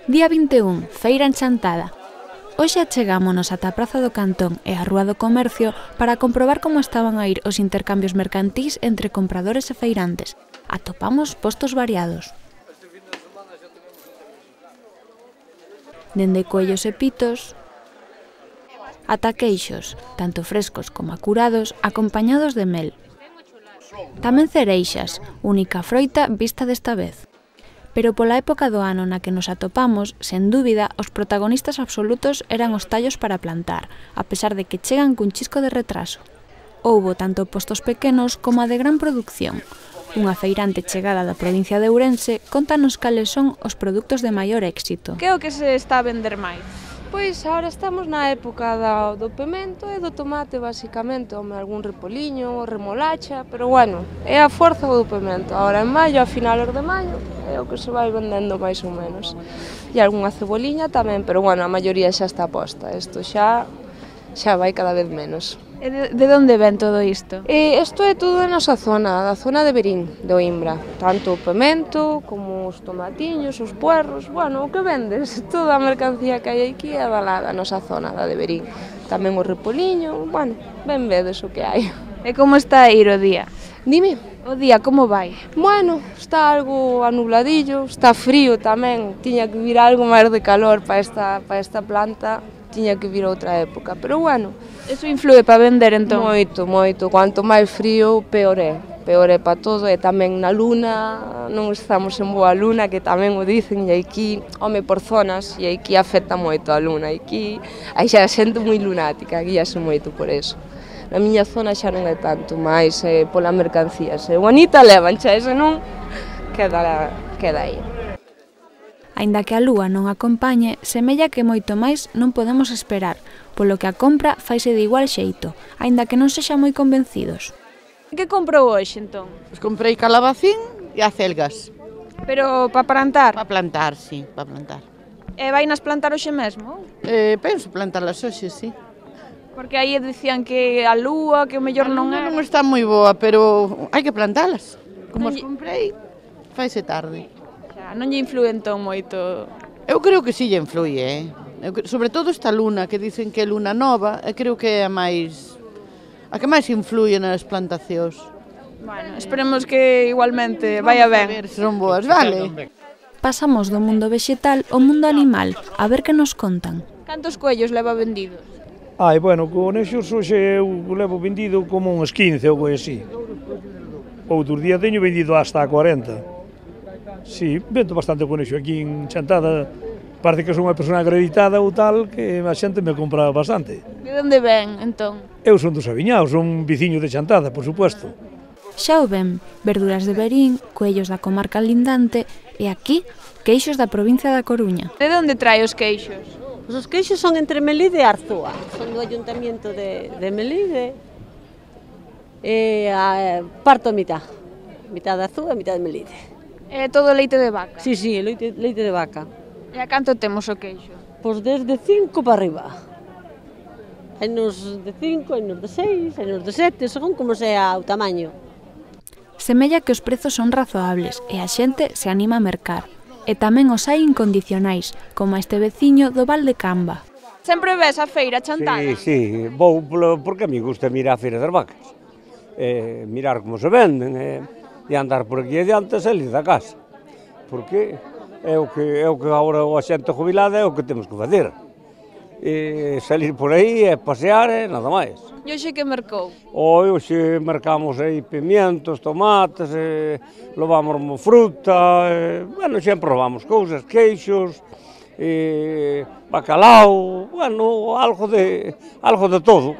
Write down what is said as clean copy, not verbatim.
Día 21, feira en Chantada. Hoxe achegámonos ata a Praza do Cantón e a Rúa do Comercio para comprobar como estaban a ir os intercambios mercantís entre compradores e feirantes. Atopamos postos variados. Dende coellos e pitos ata queixos, tanto frescos como curados, acompañados de mel. Tamén cereixas, única froita vista desta vez. Pero pola época do ano na que nos atopamos, sen dúbida, os protagonistas absolutos eran os tallos para plantar, a pesar de que chegan cun chisco de retraso. Houbo tanto postos pequenos como a de gran producción. Unha feirante chegada da provincia de Ourense contanos cales son os produtos de maior éxito. Que é o que se está a vender máis? Pois agora estamos na época do pemento e do tomate, basicamente, algún repoliño, remolacha, pero bueno, é a forza do pemento. Agora en maio, a finales de maio, é o que se vai vendendo máis ou menos. E algunha ceboliña tamén, pero bueno, a maioría xa está posta. Isto xa vai cada vez menos. E de onde ven todo isto? Isto é todo da nosa zona, da zona de Verín, de Oimbra. Tanto o pemento, como os tomatiños, os puerros, bueno, o que vendes, toda a mercancía que hai aquí é da nosa zona, da de Verín. Tamén o repoliño, bueno, ben vedes o que hai. E como está a ir o día? Dime. O día, como vai? Bueno, está algo anubladillo, está frío tamén, tiña que vir algo máis de calor para esta planta, tiña que vir outra época, pero bueno. Eso influe para vender entón? Moito, moito, cuanto máis frío, peor é para todo, e tamén na luna, non estamos en boa luna, que tamén o dicen, e aquí, home, por zonas, e aquí afecta moito a luna, aquí hai xa xente moi lunática, aquí xa moito por eso. Na miña zona xa non é tanto, máis pola mercancía, se bonita levan xa, ese non, queda aí. Aínda que a lúa non acompañe, semella que moito máis non podemos esperar, polo que a compra faise de igual xeito, aínda que non sexa moi convencidos. Que comprou hoxe, entón? Pois comprei calabacín e acelgas. Pero para plantar? Para plantar, sí, para plantar. E vainas plantar hoxe mesmo? Penso plantarlas hoxe, sí. Porque aí dicían que a lúa, que o mellor non era. Non está moi boa, pero hai que plantalas. Como as comprei, faise tarde. Non lle influe entón moito? Eu creo que si lle influe, sobre todo esta luna, que dicen que é luna nova, creo que é a que máis influe nas plantacións. Bueno, esperemos que igualmente vaya ben. A ver se son boas, vale? Pasamos do mundo vexetal ao mundo animal, a ver que nos contan. Cantos coellos leva vendidos? Bueno, conexos hoxe eu levo vendido como uns 15 ou así. Outros días teño vendido hasta 40. Sí, vendo bastante conexo aquí en Chantada. Parece que son unha persona acreditada ou tal, que a xente me compra bastante. De onde ven, entón? Eu son dos Aviñaos, son viciño de Chantada, por supuesto. Xa o ven, verduras de Verín, coellos da comarca lindante e aquí, queixos da provincia da Coruña. De onde trae os queixos? Os queixos son entre Melide e Arzúa, son do Ayuntamiento de Melide e parto a mitad de Arzúa e mitad de Melide. É todo leite de vaca? Sí, leite de vaca. E a canto temos o queixo? Pois desde 5 para arriba. Hai nos de 5, hai nos de 6, hai nos de 7, según como sea o tamaño. Semella que os prezos son razoables e a xente se anima a mercar. E tamén os hai incondicionais, como este veciño do Val de Camba. Sempre ves a feira Chantada? Sí, vou porque a mí gusta mirar a feira das vacas. Mirar como se venden, e andar por aquí adiante e salir da casa. Porque é o que agora a xente jubilada é o que temos que fazer. Salir por aí e pasear e nada máis. E hoxe que mercou? Hoxe mercamos aí pimientos, tomates, levamos fruta, bueno, sempre levamos cousas, queixos, bacalao, bueno, algo de todo.